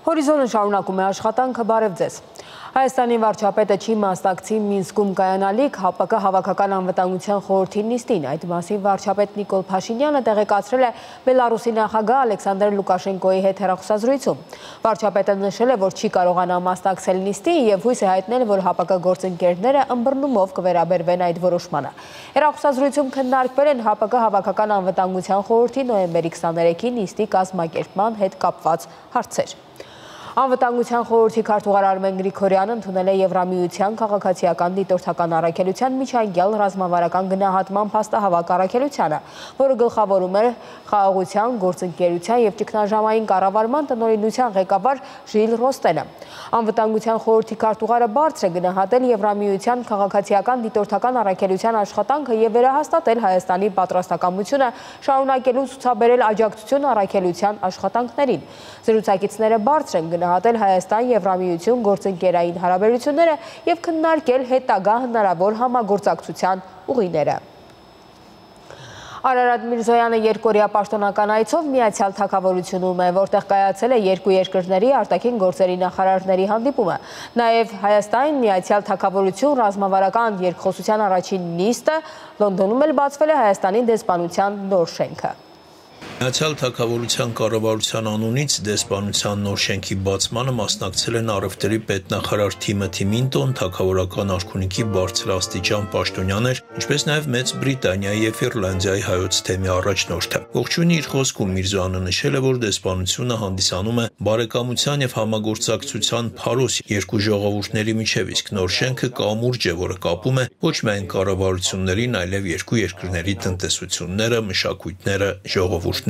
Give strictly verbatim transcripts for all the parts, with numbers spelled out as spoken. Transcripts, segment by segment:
Հորիզոնը շարունակում է աշխատանքը, բարև ձեզ։ Հայաստանի վարչապետը չի մասնակցի Մինսկում կայանալիք ՀԱՊԿ հավաքական անվտանգության խորհրդի նիստին։ Այդ մասին վարչապետ Նիկոլ Փաշինյանը տեղեկացրել է Բելարուսի նախագահ Ալեքսանդր Լուկաշենկոյի հետ հեռախոսազրույցում։ Վարչապետը նշել է, որ չի կարողանա մասնակցել նիստին եւ հույս է հայտնել, որ ՀԱՊԿ գործընկերները ըմբռնումով կվերաբերվեն այդ որոշմանը։ Հեռախոսազրույցում քննարկվել են ՀԱՊԿ հավաքական անվտանգության խորհրդի նոյեմբերի քսաներեքի նիստի կազմակերպման հետ կապված հարցեր։ Անվտանգության խորհրդի քարտուղար Արմեն Գրիգորյանը ընդունել է Եվրամիության քաղաքացիական դիտորդական առաքելության միջանկյալ ռազմավարական գնահատման փաստահավաք առաքելությանը, որը գլխավորում է խաղաղության, գործընկերության եւ ճգնաժամային կառավարման տնօրինության ղեկավար Ժիլ Ռոստենը։ Անվտանգության խորհրդի քարտուղարը բարձր է գնահատել Եվրամիության քաղաքացիական դիտորդական առաքելության աշխատանքը եւ վերահաստատել Հայաստանի պատրաստակամությունը շարունակելու ցուցաբերել աջակցություն առաքելության աշխատանքներին։ Զրուցակիցները բարձր են գնահատել Հայաստան-Եվրամիություն գործընկերային հարաբերությունները եւ քննարկել հետագա հնարավոր համագործակցության ուղիները։ Արարատ Միրզոյանը երկօրյա պաշտոնական այցով Միացյալ Թագավորությունում է, որտեղ կայացել է երկու երկրների արտաքին գործերի նախարարների հանդիպումը։ Նաև Հայաստան Միացյալ Թագավորություն ռազմավարական երկխոսության առաջին նիստը Լոնդոնում էլ բացվել է Հայաստանի դեսպանության նոր շենքը։ Միացյալ Թագավորության կառավարության անունից դեսպանության նոր շենքի բացմանը մասնակցել են առևտրի պետնախարար Թիմոթի Մինտոն, թագավորական արքունիքի բարձրաստիճան պաշտոնյաներ, ինչպես նաև Մեծ Բրիտանիայի և Իռլանդիայի հայոց թեմի առաջնորդը։ Ողջույնի իր խոսքում Միրզոյանը նշել է, որ դեսպանությունը հանդիսանում է բարեկամության և համագործակցության փարոս երկու ժողովուրդների միջև, իսկ նոր շենքը կամուրջ է, որը կապում է ոչ միայն կառավարություններին, այլև երկու երկրների տնտեսությունները, մշակույթները, ժողովուրդները։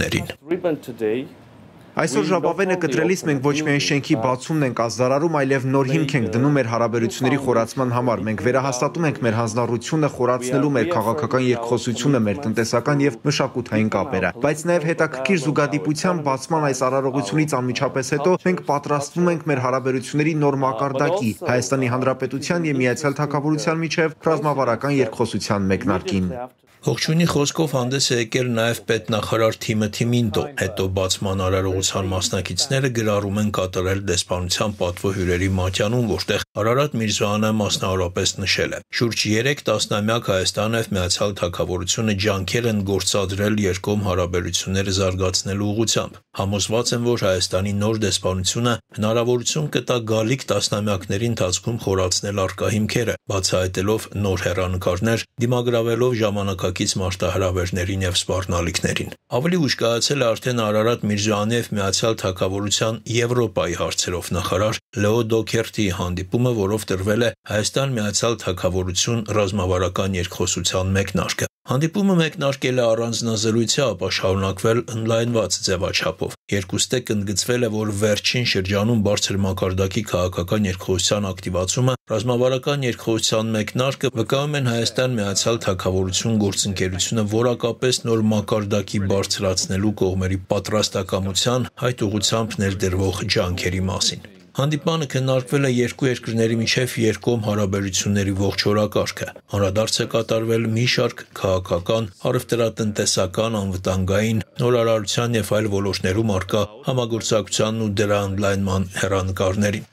Այսօր ժապավենը կտրելիս մենք ոչ միայն շենքի բացումն ենք ազդարարում, այլև նոր հիմք ենք դնում մեր հարաբերությունների խորացման համար։ Մենք վերահաստատում ենք մեր հանձնառությունը խորացնելու մեր քաղաքական երկխոսությունը, մեր տնտեսական եւ մշակութային կապերը։ Բայց նաեւ հետաքրքիր զուգադիպության բացման այս արարողությունից անմիջապես հետո մենք պատրաստվում ենք մեր հարաբերությունների նոր մակարդակի Հայաստանի Հանրապետության եւ Միացյալ Թագավորության միջև ռազմավարական երկխոսության մեկնարկին։ Ողջույնի խոսքով հանդես է եկել նաև պետնախարար Թիմոթի Մինտո։ Հետո բացման արարողության մասնակիցները գրառում են կատարել դեսպանության պատվո հյուրերի մատյանում, որտեղ Արարատ Միրզոյանը մասնավորապես նշել է. շուրջ երեք տասնամյակ Հայաստանը եւ Միացյալ Թագավորությունը ջանքեր են գործադրել երկկողմ հարաբերությունները զարգացնելու ուղղությամբ։ Համոզված եմ, որ Հայաստանի նոր դեսպանությունը հնարավորություն կտա գալիք տասնամյակների ընթացքում խորացնել առկա հիմքերը, բացահայտելով նոր հեռանկարներ, դիմագրավելով ժամանակակից մարտահրավերներին եւ սպառնալիքներին։ Ավելի ուշ կայացել է արդեն Արարատ Միրզոյանի եւ Միացյալ Թագավորության Եվրոպայի հարցերով նախարար Լեո Դոքերտի հանդիպումը, որով տրվել է Հայաստան-Միացյալ Թագավորություն ռազմավարական երկխոսության մեկնարկը։ Հանդիպումը մեկնարկել է առանձնազրույցի, ապա շարունակվել ընդլայնված ձևաչափով։ Երկուստեք ընդգծվել է, որ վերջին շրջանում բարձր մակարդակի քաղաքական երկխոսության ակտիվացումը, ռազմավարական երկխոսության մեկնարկը վկայում են Հայաստան-Միացյալ Թագավորություն գործընկերությունը որակապես նոր մակարդակի բարձրացնելու կողմերի պատրաստակամության, այդ ուղղությամբ ներդրվող ջանքերի մասին։ Հանդիպանը քննարկվել է երկու երկրների միջև երկկողմ հարաբերությունների ողջ օրակարգը։ Անդրադարձ է կատարվել մի շարք քաղաքական, առևտրատնտեսական, անվտանգային, նորարարության եւ այլ ոլորտներում առկա համագործակցությանն ու դրա ընդլայնման հեռանկարներին։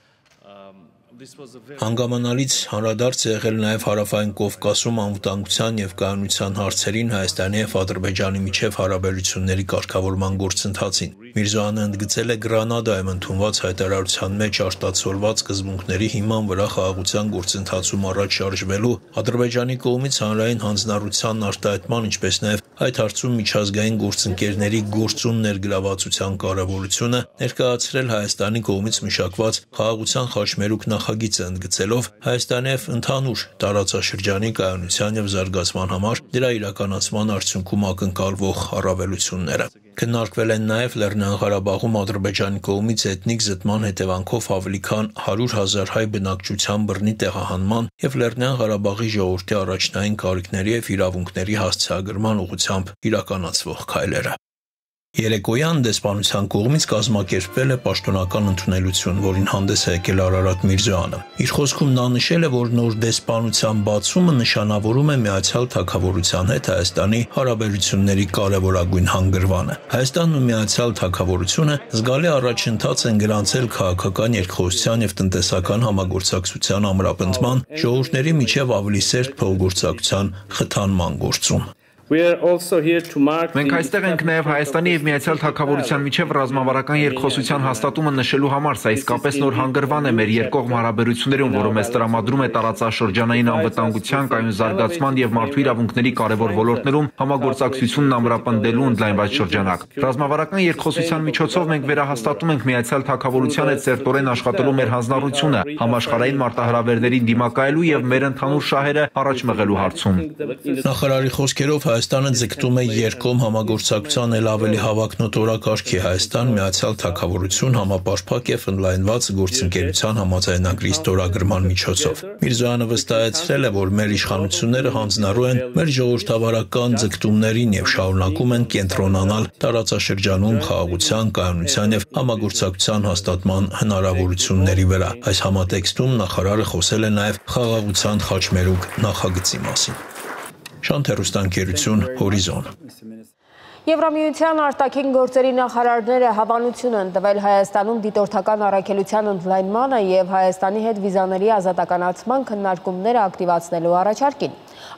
Հանգամանալից անդրադարձ է եղել նաև Հարավային Կովկասում անվտանգության եւ կայունության հարցերին Հայաստանի եւ Ադրբեջանի միջև հարաբերությունների կարգավորման գործընթացին։ Միրզոյանը ընդգծել է Գրանադայում ընդունված հայտարարության մեջ արտացոլված սկզբունքների հիման վրա խաղաղության գործընթացում առաջ շարժվելու Ադրբեջանի կողմից հանրային հանձնառությանն արտահայտման, ինչպես նաև այդ հարցում միջազգային գործընկերների գործուն ներգրավվածության կարևորությունը, ներկայացրել Հայաստանի կողմից մշակված խաղաղության խաչմերուկ նախագիծը, ընդգծելով Հայաստանի եւ ընդհանուր տարածաշրջանի կայունության եւ զարգացման համար դրա իրականացման արդյունքում ակնկալվող առավելությունները։ Քննարկվել են նաև Լեռնային Ղարաբաղում Ադրբեջանի կողմից էթնիկ զտման հետևանքով ավելի քան հարյուր հազար հայ բնակչության բռնի տեղահանման եւ Լեռնային Ղարաբաղի ժողովրդի առաջնային կարիքների եւ իրավունքների հասցեագրման ուղղությամբ իրականացվող քայլերը։ Երեկոյան դեսպանության կողմից կազմակերպվել է պաշտոնական ընդունելություն, որին հանդես է եկել Արարատ Միրզոյանը։ Իր խոսքում նա նշել է, որ նոր դեսպանության բացումը նշանավորում է Միացյալ Թագավորության հետ Հայաստանի հարաբերությունների կարևորագույն հանգրվանը։ Հայաստանն ու Միացյալ Թագավորությունը զգալի առաջընթաց են գրանցել քաղաքական երկխոսության եւ տնտեսական համագործակցության ամրապնդման, ժողովուրդների միջև ավելի սերտ փոխգործակցության խթանման գործում։ Մենք այստեղ ենք նաև Հայաստանի եւ Միացյալ Թագավորության միջև ռազմավարական երկխոսության հաստատումը նշելու համար, սա իսկապես նոր հանգրվան է մեր երկկողմ հարաբերություններում, որը մեզ տրամադրում է տարածաշրջանային անվտանգության, կայուն զարգացման եւ մարդու իրավունքների կարևոր ոլորտներում համագործակցությունն ամրապնդելու ընդլայնված շրջանակ։ Ռազմավարական երկխոսության միջոցով մենք վերահաստատում ենք Միացյալ Թագավորության հետ սերտորեն աշխատելու մեր հանձնառությունը, համաշխարհային մարտահրավերներին դիմակայելու եւ մեր ընդհանուր շահերը առաջ մղելու հարցում։ Նախարարի խոսքերով Հայաստանը ձգտում է երկկողմ համագործակցության էլ ավելի հավակնոտ օրակարգի Հայաստան Միացյալ Թագավորություն համապարփակ եւ ընդլայնված գործընկերության համաձայնագրի ստորագրման միջոցով։ Միրզոյանը վստահեցրել է, որ մեր իշխանությունները հանձնառու են մեր ժողովրդավարական ձգտումներին եւ շարունակում են կենտրոնանալ տարածաշրջանում խաղաղության, կայունության եւ համագործակցության հաստատման հնարավորությունների վրա։ Այս համատեքստում նախարարը խոսել է նաեւ խաղաղության խաչմերուկ նախագծի մասին։ Շանթերուստանկերություն Հորիզոն։ Եվրամիության արտաքին գործերի նախարարները հավանություն են տվել Հայաստանում դիտորդական առաքելության ընդլայնմանը եւ Հայաստանի հետ վիզաների ազատականացման քննարկումները ակտիվացնելու առաջարկին։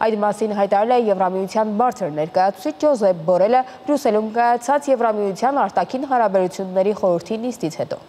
Այդ մասին հայտարարել է Եվրամիության բարձր ներկայացուցիչ Ջոզեփ Բորելը Բրյուսելում կայացած Եվրամիության արտաքին հարաբերությունների խորհրդի նիստից հետո։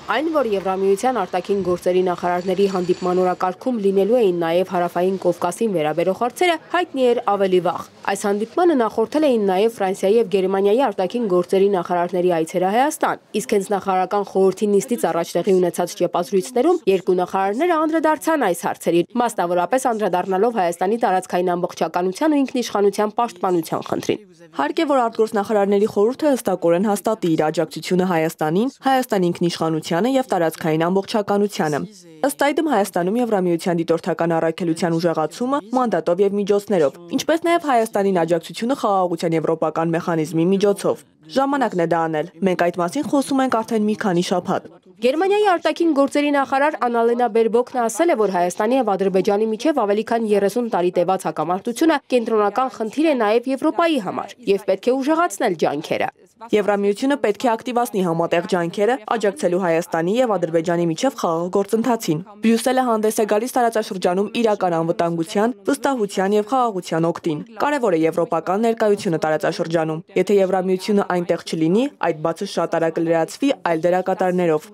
Այն, որ Եվրամիության արտաքին գործերի նախարարների հանդիպման օրակարգում լինելու էին նաև Հարավային Կովկասին վերաբերող հարցերը, հայտնի էր ավելի վաղ։ Այս հանդիպմանը նախորդել էին նաև Ֆրանսիայի եւ Գերմանիայի արտաքին գործերի նախարարների այցերը Հայաստան, իսկ հենց նախարարական խորհրդի նիստից առաջ տեղի ունեցած ճեպազրույցներում երկու նախարարները անդրադարձան այս հարցերին, մասնավորապես անդրադառնալով Հայաստանի տարածքային ամբողջականության ու ինքնիշխանության պաշտպանության խնդրին։ Հարկ է, որ արտգործնախարարների խորհուրդը հստակորեն հաստատի իր աջակցությունը Հայաստանին, Հայաստանի ինքնիշխանությանը եւ տարածքային ամբողջականությանը։ Ըստ այդմ Հայաստանում Եվրամիության դիտորդական առաքելության ուժեղացումը մանդատով եւ միջոցներով, ինչպես նաեւ Հայաստանին աջակցությունը խաղաղության եվրոպական մեխանիզմի միջոցով։ Ժամանակն է դա անել։ Մենք այդ մասին խոսում ենք արդեն մի քանի շաբաթ։ Գերմանիայի արտաքին գործերի նախարար Անալենա Բերբոկն ասել է, որ Հայաստանի եւ Ադրբեջանի միջև ավելի քան երեսուն տարի տևած հակամարտությունը կենտրոնական խնդիր է նաեւ Եվրոպայի համար եւ պետք է ուժեղացնել ջանքերը։ Եվրամիությունը պետք է ակտիվացնի համատեղ ջանքերը աջակցելու Հայաստանի եւ Ադրբեջանի միջև խաղաղ գործընթացին։ Բրյուսելը հանդես է գալիս տարածաշրջանում իրական անվտանգության, վստահության եւ խաղաղության օգտին։ Կարևոր է եվրոպական ներկայությունը տարածաշրջանում։ Եթե Եվրամիությունը այնտեղ չլինի, այդ բացը շատ արագ կլրացվի այլ դերակատարներով։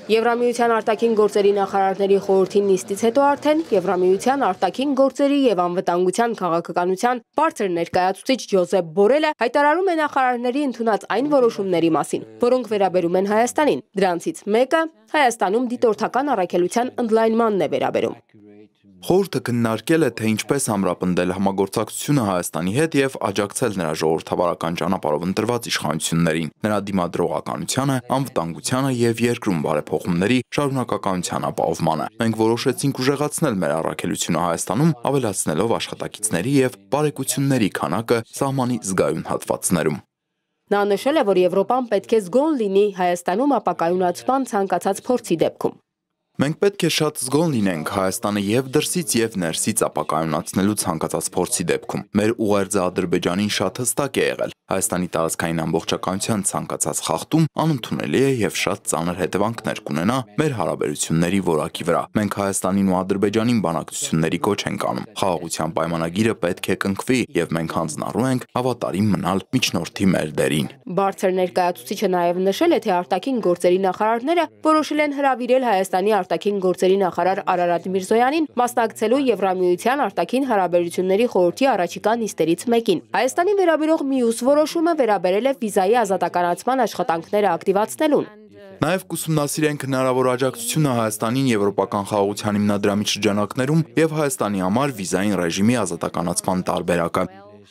Եվրամիության արտաքին գործերի նախարարների խորհրդի նիստից հետո արդեն Եվրամիության արտաքին գործերի եւ անվտանգության քաղաքականության բարձր ներկայացուցիչ Ջոզեփ Բորելը հայտարարում է նախարարների ընդունած այն որոշումների մասին, որոնք վերաբերում են Հայաստանին։ Դրանցից մեկը Հայաստանում դիտորդական առաքելության ընդլայնմանն է վերաբերում։ Խորհուրդը քննարկել է, թե ինչպես ամրապնդել համագործակցությունը Հայաստանի հետ եւ աջակցել նրա ժողովրդավարական ճանապարհով ընտրված իշխանություններին, նրա դիմադրողականությանը, անվտանգությանը եւ երկրում բարեփոխումների շարունակականության ապահովմանը։ Մենք որոշեցինք ուժեղացնել մեր առաքելությունը Հայաստանում, ավելացնելով աշխատակիցների եւ բարեկությունների քանակը սահմանի զգայուն հատվածներում։ Նա նշել է, որ Եվրոպան պետք է զգոն լինի Հայաստանում ապակայունացման ցանկացած փորձի դեպքում։ Մենք պետք է շատ զգոն լինենք Հայաստանը եւ դրսից եւ ներսից ապակայունացնելու ցանկացած փորձի դեպքում։ Մեր ուղերձը Ադրբեջանին շատ հստակ է եղել։ Հայաստանի տարածքային ամբողջականության ցանկացած խախտում անընդունելի է եւ շատ ծանր հետևանքներ կունենա մեր հարաբերությունների որակի վրա։ Մենք Հայաստանին ու Ադրբեջանին բանակցությունների կոչ ենք անում։ Խաղաղության պայմանագիրը պետք է կնքվի եւ մենք հանձնառու ենք հավատարիմ մնալ միջնորդի մեր դերին։ Բարձր ներկայացուցիչը նաեւ նշել է, թե արտաքին գործերի նախարարները որոշել են հրավիրել Հայաստանի արտաքին գործերի նախարար Արարատ Միրզոյանին մասնակցելու Եվրամիության արտաքին հարաբերությունների խորհրդի առաջիկա նիստերից մեկին։ Հայաստանի վերաբերող մյուս որոշումը վերաբերել է վիզայի ազատականացման աշխատանքները ակտիվացնելուն։ Նաև կուսումնասիրենք հնարավոր աջակցությունը Հայաստանին եվրոպական խաղաղության հիմնադրամի շրջանակներում եւ Հայաստանի համար վիզային ռեժիմի ազատականացման տարբերակը։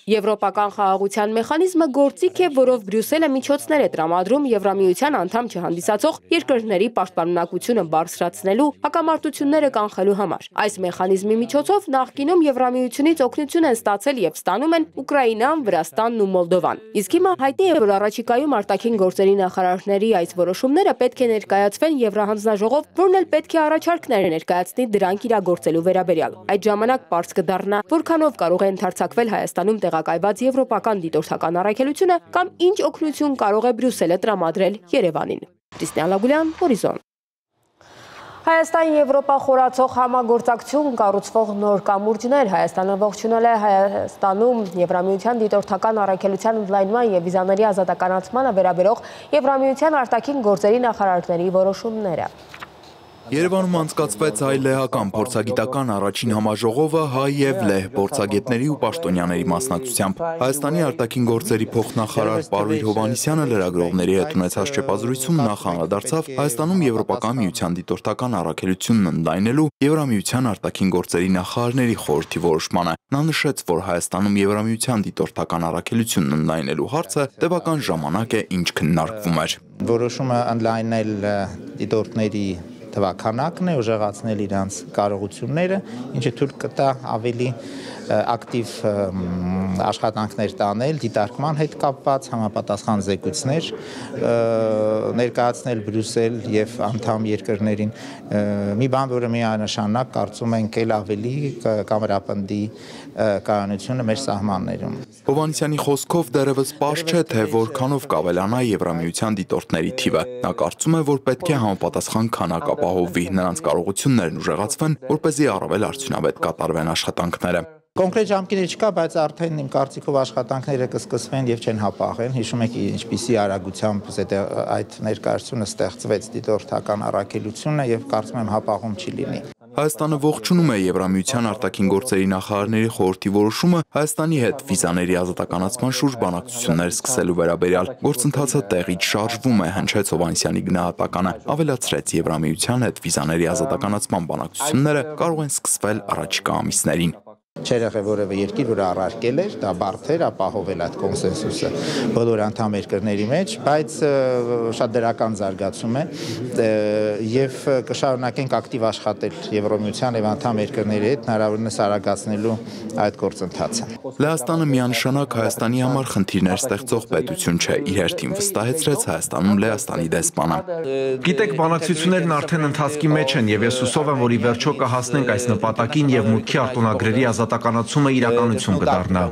Եվրոպական խաղաղության մեխանիզմը գործիք է, որով Բրյուսելը միջոցներ է տրամադրում Եվրամիության անդամ չհանդիսացող երկրների պաշտպանունակությունը բարձրացնելու, հակամարտությունները կանխելու համար։ Այս մեխանիզմի միջոցով նախկինում Եվրամիությունից օգնություն են ստացել եւ ստանում են Ուկրաինան, Վրաստանն ու Մոլդովան։ Իսկ հիմա հայտնի է, որ առաջիկայում արտաքին գործերի նախարարների այս որոշումները պետք է ներկայացվեն Եվրահանձնաժողով, որն էլ պետք է առաջարկներ ներկայացնի դրանք իրագործելու վերաբերյալ։ Այդ ժամանակ պարզ կդառնա, որքանով կարող է ընդարձակվել Հայաստանում տեղակայված եվրոպական դիտորդական առաքելությունը կամ ինչ օգնություն կարող է Բրյուսելը տրամադրել Երևանին։ Տիսնե Ալագուլյան, Հորիզոն։ Հայաստան-Եվրոպա խորացող համագործակցություն կառուցվող նոր կամուրջներ Հայաստանը ողջունել է Հայաստանում Եվրամիության դիտորդական առաքելության ընդլայնման և վիզաների ազատականացմանը վերաբերող Եվրամիության արտաքին գործերի նախարարների որոշումները։ Երևանում անցկացվեց հայ լեհական փորձագիտական առաջին համաժողովը հայ և լեհ փորձագետների ու պաշտոնյաների մասնակցությամբ։ Հայաստանի արտաքին գործերի փոխնախարար Պարույր Հովհաննիսյանը լրագրողների հետ ունեցած շփազրույցում նախ անդրադարձավ Հայաստանում Եվրոպական միության դիտորդական առաքելությունն ընդլայնելու Եվրամիության արտաքին գործերի նախարարների խորհրդի որոշմանը։ Նա նշեց, որ Հայաստանում Եվրամիության դիտորդական առաքելությունն ընդլայնելու հարցը տևական ժամանակ է, ինչ քննարկվում էր։ Որոշումը ընդլայնել դիտորդների թվաքանակն է, ուժեղացնել իրանց կարողությունները, ինչը թույլ կտա ավելի ակտիվ աշխատանքներ տանել, դիտարկման հետ կապված համապատասխան զեկույցներ ներկայացնել Բրյուսել եւ անդամ երկրներին։ Մի բան, որը միանշանակ կարծում ենք էլ ավելի կամերապնդի կայունությունը մեր սահմաններում։ Հովհաննիսյանի խոսքով դեռևս պարզ չէ, թե որքանով կավելանա Եվրամիության դիտորդների թիվը։ Նա կարծում է, որ պետք է համապատասխան քանակ ապահովվի, նրանց կարողություններն ուժեղացվեն, որպեսզի առավել արդյունավետ կատարվեն աշխատանքները։ Կոնկրետ ժամկետներ չկա, բայց արդեն իմ կարծիքով աշխատանքները կսկսվեն եւ չեն հապաղեն։ Հիշում եք ինչպիսի արագությամբ այդ ներկայացումը ստեղծվեց դիտորդական առաքելությունը եւ կարծում եմ հապաղում չի լինի։ Հայաստանը ողջունում է Եվրամիության արտաքին գործերի նախարարների խորհրդի որոշումը Հայաստանի հետ վիզաների ազատականացման շուրջ բանակցություններ սկսելու վերաբերյալ։ Գործընթացը տեղից շարժվում է, հնչեց Հովհաննիսյանի գնահատականը, ավելացրեց Եվրամիության հետ վիզաների ազատականացման բանակցությունները կարող են սկսվել առաջիկա ամիսներին։ Չէր եղել որևէ երկիր, որը առարկել էր, դա բարդ էր ապահովել այդ կոնսենսուսը բոլոր անդամ երկրների մեջ, բայց շատ դրական զարգացում է եւ կշարունակենք ակտիվ աշխատել Եվրոմիության եւ անդամ երկրների հետ հնարավորինս արագացնելու այդ գործընթացը։ Լեհաստանը միանշանակ Հայաստանի համար խնդիրներ ստեղծող պետություն չէ, իր հերթին վստահեցրեց Հայաստանում Լեհաստանի դեսպանը։ Գիտեք, բանակցություններն արդեն ընթացքի մեջ են եւ ես հուսով եմ, որ ի վերջո կհասնենք այս նպատակին եւ մուտքի արտոնագրերի ազատականացումը իրականություն կդառնա։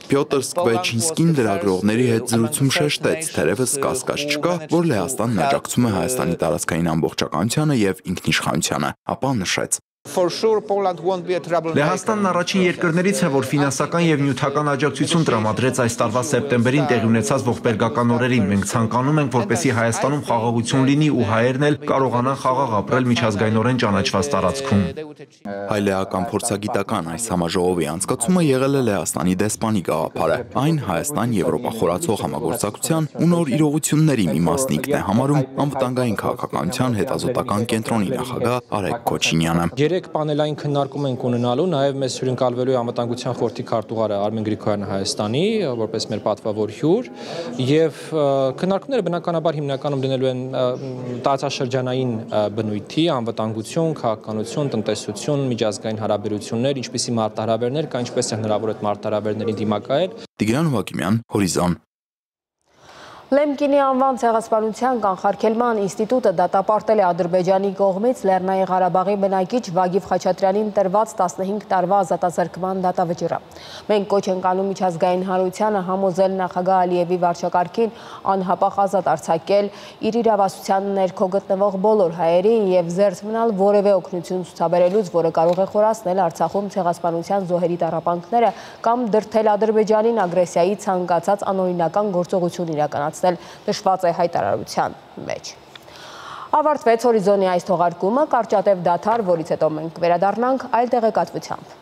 Պյոտր Սկվեչինսկին լրագրողների հետ զրույցում շեշտեց, թերևս կասկած չկա, որ Լեհաստանն աջակցում է Հայաստանի տարածքային ամբողջականությանը եւ ինքնիշխանությանը, ապա նշեց. Լեհաստանն առաջին երկրներից է, որ ֆինանսական եւ նյութական աջակցություն տրամադրեց այս տարվա սեպտեմբերին տեղի ունեցած ողբերգական օրերին։ Մենք ցանկանում ենք, որպեսզի Հայաստանում խաղաղություն լինի ու հայերն էլ կարողանան խաղաղ ապրել միջազգայինորեն ճանաչված տարածքում։ Հայ-լեհական փորձագիտական այս համաժողովի անցկացումը եղել է Լեհաստանի դեսպանի գաղափարը։ Այն Հայաստան-Եվրոպա խորացող համագործակցության ու նոր իրողությունների մի մասնիկն է համարում անվտանգային քաղաքականության հետազոտական կենտրոնի նախագահ Արեգ Քոչինյանը։ Երեք պանելային քննարկում ենք ունենալու, նաև մեզ հյուրընկալվելու է անվտանգության խորհրդի քարտուղարը Արմեն Գրիգորյանը Հայաստանի, որպես մեր պատվավոր հյուր, եւ քննարկումները բնականաբար հիմնականում դնելու են տարածաշրջանային բնույթի, անվտանգություն, քաղաքականություն, տնտեսություն, միջազգային հարաբերություններ, ինչպիսի մարտահրավերներ կա, ինչպես է հնարավոր այդ մարտահրավերներին դիմակայել։ Տիգրան Հովհակիմյան, Հորիզոն։ Լեմկինի անվան ցեղասպանության կանխարգելման ինստիտուտը դատապարտել է Ադրբեջանի կողմից Լեռնային Ղարաբաղի բնակիչ Վագիվ Խաչատրյանին տրված տասնհինգ տարվա ազատազրկման դատավճիռը։ Մենք կոչ ենք անում միջազգային հանրությանը համոզել նախագահ Ալիևի վարչակարգին անհապաղ ազատ արձակել իր իրավասության ներքո գտնվող բոլոր հայերին եւ զերծ մնալ որևէ օգնություն ցուցաբերելուց, որը կարող է խորացնել Արցախում ցեղասպանության զոհերի տառապանքները կամ դրդել Ադրբեջանին ագրեսիայի ցանկացած անօրինական գործողություն իրականացնել, նշված է հայտարարության մեջ։ Ավարտվեց Հորիզոնի այս թողարկումը, կարճատև դադար, որից հետո մենք վերադառնանք այլ տեղեկատվությամբ։